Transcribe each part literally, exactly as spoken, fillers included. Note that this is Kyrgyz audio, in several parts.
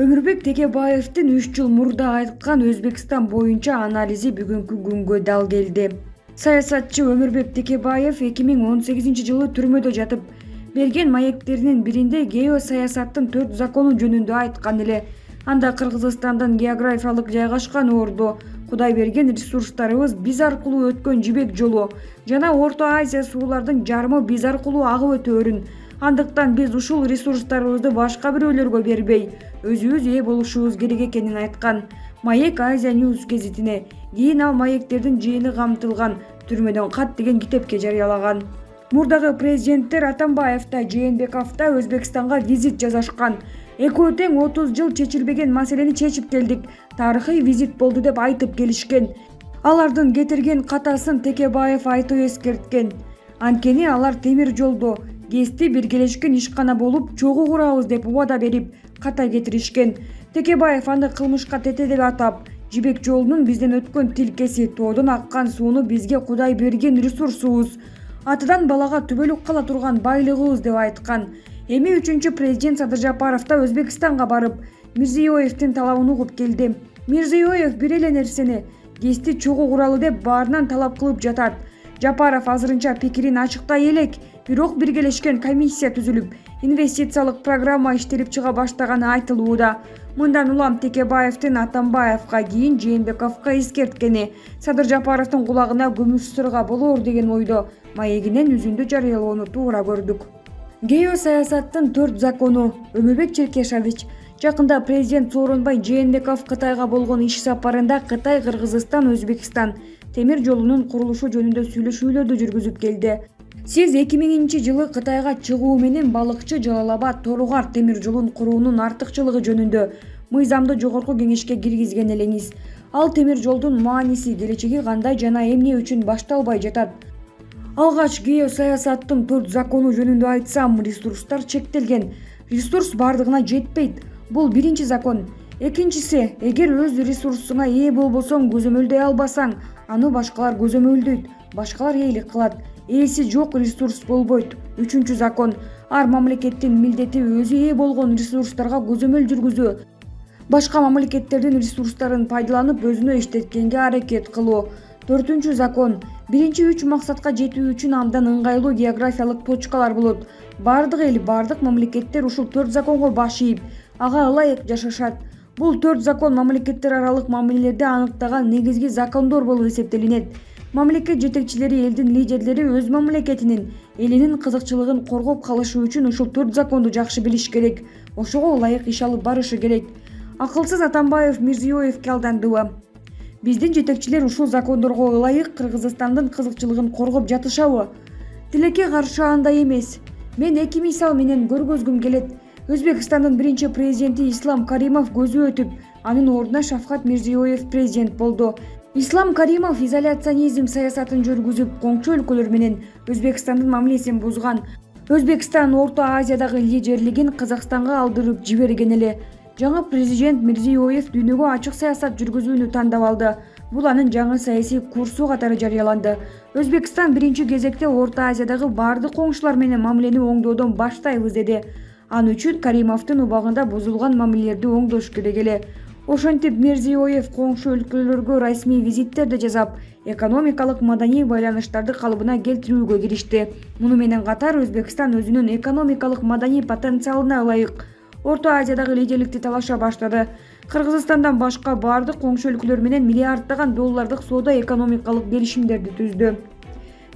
Өмүрбек Текебаевдин үч жыл мурда айткан Өзбекстан боюнча анализи бүгүнкү күнгө дал келди. Саясатчы Өмүрбек Текебаев эки миң он сегизинчи жылы түрмөдө жатып берген маектеринин биринде геосаясаттын төрт закону жөнүндө айткан эле. Анда Кыргызстандын географиялык жайгашкан орду, Кудай берген ресурстарыбыз биз аркылуу өткөн жибек жолу жана Орто Азия суулардын жарымы биз аркылуу агып өтөөрүн. Андыктан биз ушул ресурстарыбызды башка бирөөлөргө бербей, өзүбүз ээ болушубуз керек экенин айткан. Маек Азия News гезитине кийин ал маектердин жыйыны камтылган түрмөдөн кат деген китепке жарыялаган. Мурдагы президенттер Атамбаев да Жээнбеков да Өзбекстанга визит жасашкан. Экөө тең отуз жыл чечилбеген маселени чечип келдик. Тарыхый визит болду деп айтып келишкен. Алардын кетирген катасын Текебаев айтып эскерткен. Анткени алар темир жолдо ГЭСти биргелешкен ишкана болуп чогуу курабыз деп убада берип ката кетиришкен. Текебаев аны кылмышка тете деп атап, жибек жолунун бизден өткөн тилкеси, тоодон аккан сууну бизге Кудай берген ресурсубуз, атадан балага түбөлүк кала турган байлыгыбыз деп айткан. Эми үчүнчү президент Садыр Жапаров да Өзбекстанга барып, Мирзиёевдин талабын угуп келди. Мирзиёев бир эле нерсени, ГЭСти чогуу куралы деп баарынан талап кылып жатат. Жапаров азырынча пикирин ачыктай элек, бирок биргелешкен комиссия түзүлүп, инвестициялык программа иштелип чыга баштаганы айтылууда. Мындан улам Текебаевдин Атамбаевга, кийин Жээнбековго эскерткени Садыр Жапаровдун кулагына күмүш сырга болоор деген ойдо маегинен үзүндү жарыялоону туура көрдүк. Геосаясаттын төрт закону. Өмүрбек Черкешович. Жакында президент Сооронбай Жээнбеков Кытайга болгон иш сапарында Кытай, Кыргызстан, Өзбекстан темир жолунун курулушу жөнүндө сүйлөшүүлөрдү жүргүзүп келди. Сиз эки миңинчи жылы Кытайга чыгуу менен балыкчы Жалал-Абад Торугар темир жолун куруунун артыкчылыгы жөнүндө мыйзамды жогорку кеңешке киргизген элеңиз. Ал темир жолдун мааниси, келечеги кандай жана эмне үчүн башталбай жатат? Алгач геосаясаттын төрт закону жөнүндө айтсам, ресурстар чектелген. Ресурс бардыгына жетпейт. Бул биринчи закон. Экинчиси, эгер өз ресурсуңа ээ болбосоң, көзөмөлдөй албасаң, аны башкалар көзөмөлдөйт, башкалар ээлик кылат. Ээси жок ресурс болбойт. Үчүнчү закон. Ар мамлекеттин милдети өзү ээ болгон ресурстарга көзөмөл жүргүзүү. Башка мамлекеттердин ресурстарын пайдаланып өзүнө иштеткенге аракет кылуу. Төртүнчү закон. Биринчи үч максатка жетүү үчүн абдан ыңгайлуу географиялык точкалар болот. Бардык эл, бардык мамлекеттер ушул төрт законго баш ийип, ага ылайык жашашат. Бул төрт закон мамлекеттер аралык мамилелерди аныктаган негизги закондор болуп эсептелинет. Мамлекет жетекчилери, элдин лидерлери өз мамлекетинин, элинин кызыкчылыгын коргоп калышы үчүн ушул төрт законду жакшы билиш керек. Ошого ылайык иш алып барышы керек. Акылсыз Атамбаев Мирзиёевге алдандыбы? Биздин жетекчилер ушул закондорго ылайык Кыргызстандын кызыкчылыгын коргоп жатышабы? Тилекке каршы андай эмес. Мен эки мисал менен көргөзгүм келет. Өзбекстандын биринчи президенти Ислам Каримов көзү өтүп, анын ордуна Шавкат Мирзиёев президент болду. Ислам Каримов изоляционизм саясатын жүргүзүп, коңчу өлкөлөр менен Өзбекстандын мамилесин бузган. Өзбекстан Орто Азиядагы лидерлигин Казакстанга алдырып жиберген эле. Жаңы президент Мирзиёев дүйнөгө ачык саясат жүргүзүүнү тандап алды. Бул анын жаңы саясий курсу катары жарыяланды. Өзбекстан биринчи кезекте Орто Азиядагы бардык коңшулар менен мамилени оңдоодон баштайбыз деди. Ал үчүн Каримовдун убагында бузулган мамилелерди оңдош керек эле. Ошентип Мирзиёев коңшу өлкөлөргө расмий визиттерди жасап, экономикалык маданий байланыштарды калыбына келтирүүгө киришти. Муну менен катар Өзбекстан өзүнүн экономикалык маданий потенциалына ылайык Орто Азиядагы лидерликти талаша баштады. Кыргызстандан башка бардык коңшу өлкөлөр менен миллиарддаган доллардык соода экономикалык келишимдерди түздү.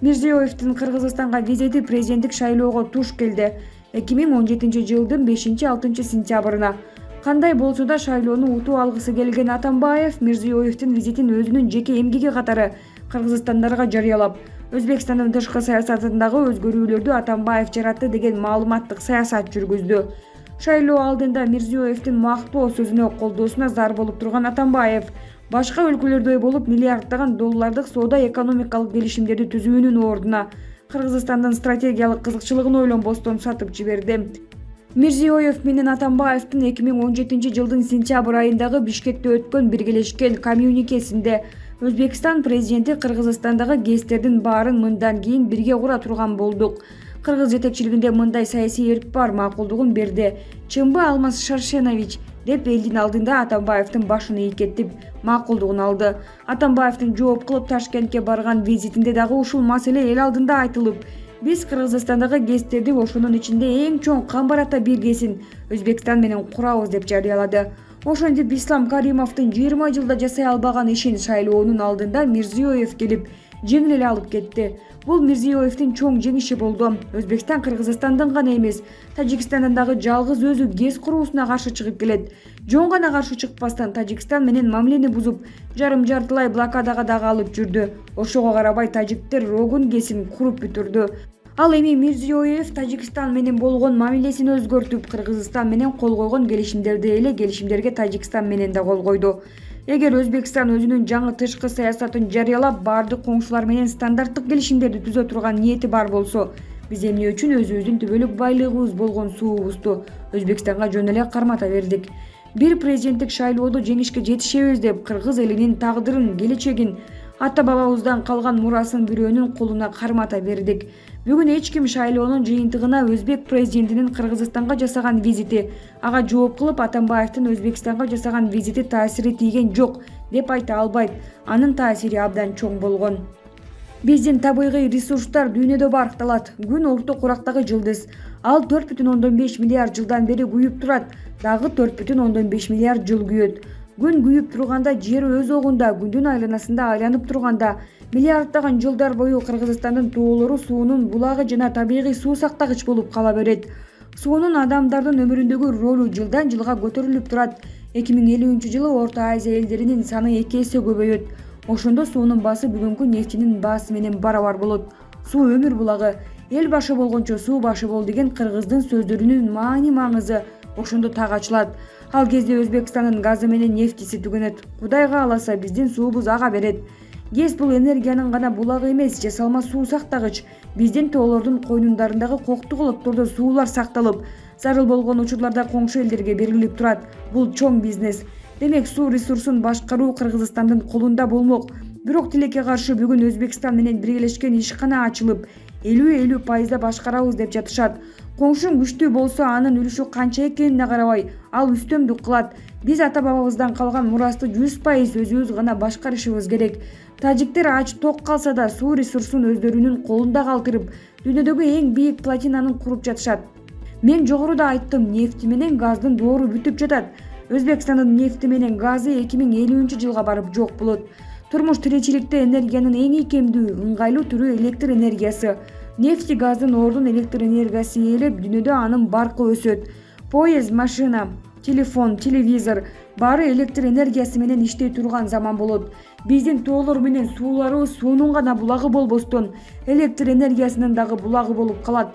Мирзиёевдин Кыргызстанга визити президенттик шайлоого туш келди. эки миң он жетинчи жылдын бешинчи-алтынчы сентябрына. Кандай болсо да шайлоону утуп алгысы келген Атамбаев Мирзиёевдин визитин өзүнүн жеке эмгеги катары кыргызстандарга жарыялап, Өзбекстандын тышкы саясатындагы өзгөрүүлөрдү Атамбаев жаратты деген маалыматтык саясат жүргүздү. Шайлоо алдында Мирзиёевдин мактоо сөзүнө колдоосуна зар болуп турган Атамбаев башка өлкөлөрдөй болуп миллиарддаган доллардык соода экономикалык келишимдерди түзүүнүн ордуна Кыргызстандын стратегиялык кызыкчылыгын ойлонбостон сатып жиберди. Мирзиёев менен Атамбаевдин эки миң он жетинчи жылдын сентябрь айындагы Бишкекте өткөн биргелешкен коммюникесинде Өзбекстан президенти Кыргызстандагы ГЭСтердин баарын мындан кийин бирге кура турган болдук. Кыргыз жетекчилигинде мындай саясий эрк бар макулдугун берди. Чынбы Алмаз Шаршенович деп элдин алдында Атамбаевдин башын ийкеттип макулдугун алды. Атамбаевдин жооп кылып Ташкентке барган визитинде дагы ушул маселе эл алдында айтылып, биз Кыргызстандагы ГЭСтерди ошонун ичинде эң чоң Камбар-Ата биргесин Өзбекстан менен курабыз деп жарыялады. Ошентип Ислам Каримовдун жыйырма жылда жасай албаган ишин шайлоонун алдында Мирзиёев келип жеңил эле алып кетти. Бул Мирзиёевдин чоң жеңиши болду. Өзбекстан Кыргызстандын гана эмес, Тажикстандын дагы жалгыз өзү ГЭС куруусуна каршы чыгып келет. Жөн гана каршы чыкпастан Тажикстан менен мамилени бузуп, жарым-жартылай блокадага дагы алып жүрдү. Ошого карабай тажиктер Рогун ГЭСин куруп бүтүрдү. Ал эми Мирзиёев Тажикстан менен болгон мамилесин өзгөртүп, Кыргызстан менен кол койгон келишимдерди эле келишимдерге Тажикстан менен да кол койду. Эгер Өзбекстан өзүнүн жаңы тышкы саясатын жарыялап, баардык коңшулар менен стандарттык келишимдерди түзө турган ниети бар болсо, биз эмне үчүн өзүбүздүн түбөлүк байлыгыбыз болгон суубузду Өзбекстанга жөн эле кармата бердик? Бир президенттик шайлоодо жеңишке жетишебиз деп кыргыз элинин тагдырын, келечегин, ата-бабабыздан калган мурасын бирөөнүн колуна кармата бердик. Бүгүн эч ким шайлоонун жыйынтыгына Өзбек президентинин Кыргызстанга жасаган визити, ага жооп кылып Атамбаевдин Өзбекстанга жасаган визити таасири тийген жок деп айта албайт. Анын таасири абдан чоң болгон. Биздин табигый ресурстар дүйнөдө баркталат. Күн орто курактагы жылдыз. Ал төрт бүтүн ондон беш миллиард жылдан бери күйүп турат. Дагы төрт бүтүн ондон беш миллиард жыл күйөт. Күн күйүп турганда, жер өз огунда, күндүн айланасында айланып турганда, миллиарддаган жылдар бою Кыргызстандын тоолору суунун булагы жана табигый суу сактагыч болуп кала берет. Суунун адамдардын өмүрүндөгү ролу жылдан жылга көтөрүлүп турат. эки миң элүүнчү жылы Орто Азия элдеринин саны эки эсе көбөйөт. Ошондо суунун баасы бүгүнкү нефтинин баасы менен барабар болот. Суу өмүр булагы, эл башы болгончо суу башы бол деген кыргыздын сөздөрүнүн маани маңызы ошондо так ачылат. Ал кезде Өзбекстандын газы менен нефтиси түгөнөт. Кудай кааласа биздин суубуз ага берет. ГЭС бул энергиянын гана булагы эмес, жасалма суу сактагыч. Биздин тоолордун койнундарындагы коктук олоттордо суулар сакталып, зарыл болгон учурларда коңшу элдерге берилип турат. Бул чоң бизнес. Демек, суу ресурсун башкаруу Кыргызстандын колунда болмок. Бирок тилекке каршы бүгүн Өзбекстан менен биргелешкен ишкана ачылып, элүү элүү пайызда башкарабыз деп жатышат. Коңшуң күчтүү болсо, анын үлүшү канча экенине карабай, ал үстөмдүк кылат. Биз ата-бабабыздан калган мурасты жүз пайыз өзүбүз гана башкарышыбыз керек. Тажиктер ач ток калса да суу ресурсун өздөрүнүн колунда калтырып, дүйнөдөгү эң бийик плотинаны куруп жатышат. Мен жогоруда айттым, нефти менен газдын доору бүтүп жатат. Өзбекстандын нефти менен газы эки миң элүүнчү жылга барып жок болот. Турмуш тиричиликте энергиянын эң ийкемдүү, ыңгайлуу түрү электр энергиясы. Нефти газдын ордун электр энергиясы ээлеп, дүйнөдө анын баркы өсөт. Поезд, машина, телефон, телевизор баары электр энергиясы менен иштей турган заман болот. Биздин тоолор менен сууларыбыз суунун гана булагы болбостон, электр энергиясынын дагы булагы болуп калат.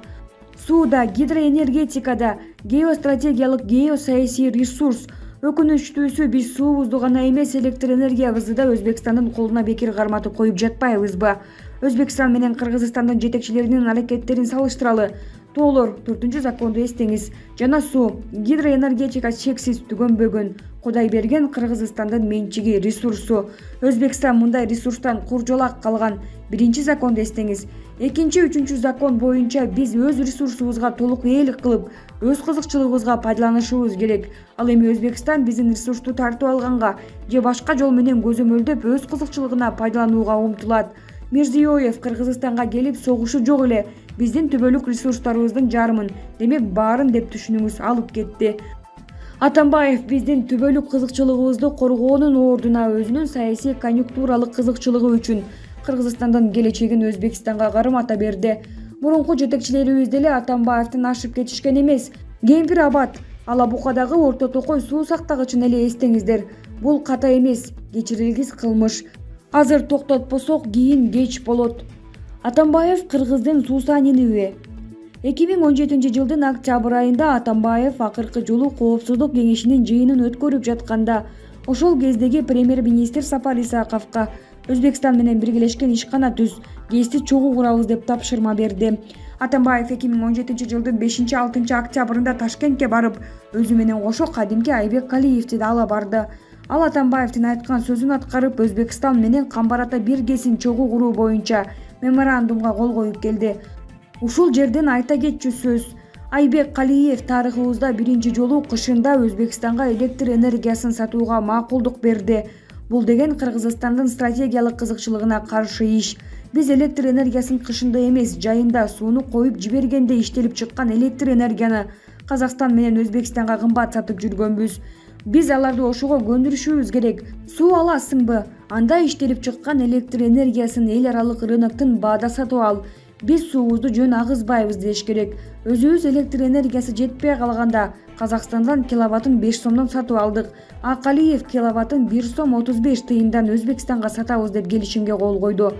Суу да, гидроэнергетикада геостратегиялык геосаясий ресурс. Өкүнүчтүүсү, биз суубузду гана эмес, электр энергиябызды да Өзбекстандын колуна бекер карматып коюп жатпайбызбы? Өзбекстан менен Кыргызстандын жетекчилеринин аракеттерин салыштыралы. Тоолор, төртүнчү законду эстеңиз. Жана суу, гидроэнергетика чексиз түгөнбөгөн. Кудай берген Кыргызстандын менчиги, ресурсу. Өзбекстан мындай ресурстан куржалак калган. Биринчи законду эстеңиз. Экинчи, үчүнчү закон боюнча биз өз ресурсубузга толук ээлик кылып, өз кызыкчылыгыбызга пайдаланышыбыз керек. Ал эми Өзбекстан биздин ресурсту тартып алганга же башка жол менен көзөмөлдөп өз кызыкчылыгына пайдаланууга умтулат. Мирзиёев Кыргызстанга келип согушу жок эле биздин түбөлүк ресурстарыбыздын жарымын, демек баарын деп түшүнүңүз, алып кетти. Атамбаев биздин түбөлүк кызыкчылыгыбызды коргоонун ордуна өзүнүн саясий конъюнктуралык кызыкчылыгы үчүн Кыргызстандын келечегин Өзбекстанга кармата берди. Мурунку жетекчилерибиз деле Атамбаевдин ашып кетишкен эмес. Кемпир Абад, Алабукадагы Орто Токой суу сактагычын эле эстеңиздер. Бул ката эмес, кечирилгис кылмыш. Азыр токтотпосок кийин кеч болот. Атамбаев кыргыздын суусаниниби? эки миң он жетинчи жылдын октябрь айында Атамбаев акыркы жолу Коопсуздук кеңешинин жыйынын өткөрүп жатканда, ошол кездеги премьер-министр Сапар Исаковго Өзбекстан менен биргелешкен ишкана түз, ГЭСти чогуу курабыз деп тапшырма берди. Атамбаев эки миң он жетинчи жылдын бешинчи алтынчы октябрында Ташкентке барып, өзү менен кошо кадимки Айбек Калиевди да ала барды. Ал Атамбаевдин айткан сөзүн аткарып, Өзбекстан менен Камбар-Ата бир ГЭСин чогуу куруу боюнча меморандумга кол коюп келди. Ушул жерден айта кетчү сөз. Айбек Калиев тарыхыбызда биринчи жолу кышында Өзбекстанга электр энергиясын сатууга макулдук берди. Бул деген Кыргызстандын стратегиялык кызыкчылыгына каршы иш. Биз электр энергиясын кышында эмес, жайында сууну коюп жибергенде иштелип чыккан электр энергияны Казакстан менен Өзбекстанга кымбат сатып жүргөнбүз. Биз аларды ошого көндүрүшүбүз керек. Суу аласыңбы? Анда иштелип чыккан электр энергиясын эл аралык рыноктон баада сатып ал. Биз суубузду жөн агызбайбыз деш керек. Өзүбүз электр энергиясы жетпей калганда Казакстандан киловаттын беш сомдон сатып алдык. А Калиев киловаттын бир сом отуз беш тыйындан Өзбекстанга сатабыз деп келишимге кол койду.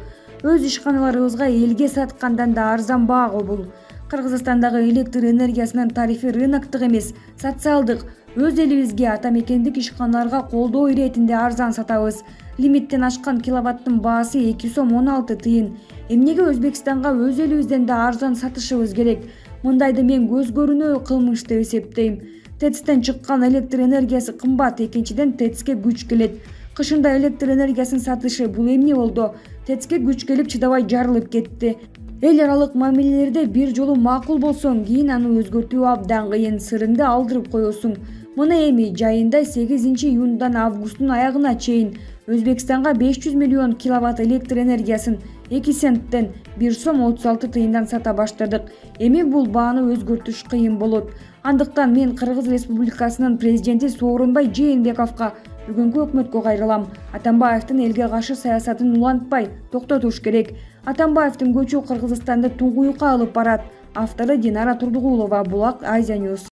Өз ишканаларыбызга элге саткандан да арзан баага бул. Кыргызстандагы электр энергиясынын тарифи рыноктук эмес, социалдык. Өз элибизге ата мекендик ишканаларга колдоо иретинде арзан сатабыз. Лимиттен ашкан киловаттын баасы эки сом он алты тыйын. Эмнеге Өзбекстанга өз элибизден да арзан сатышыбыз керек? Мындайды мен көз көрүнөө кылмыш деп эсептейм. ТЭЦтен чыккан электр энергиясы кымбат, экинчиден ТЭЦке күч келет. Кышында электр энергиясын сатышы бул эмне болду? ТЭЦке күч келип чыдабай жарылып кетти. Эл аралык мамилелерде бир жолу макул болсоң, кийин аны өзгөртүү абдан кыйын, сырыңды алдырып коесуң. Мына эми жайында сегизинчи июндан августтун аягына чейин Өзбекстанга беш жүз миллион киловатт электр энергиясын эки центтен бир сом отуз алты тыйындан сата баштадык. Эми бул бааны өзгөртүш кыйын болот. Андыктан мен Кыргыз Республикасынын президенти Сооронбай Жээнбековго бүгүнкү өкмөткө кайрылам. Атамбаевдин элге каршы саясатын улантпай токтотуш керек. Атамбаевдин көчү Кыргызстанды туңгуюкка алып барат. Автору Динара Турдугулова, Булак, Азия Ньюс.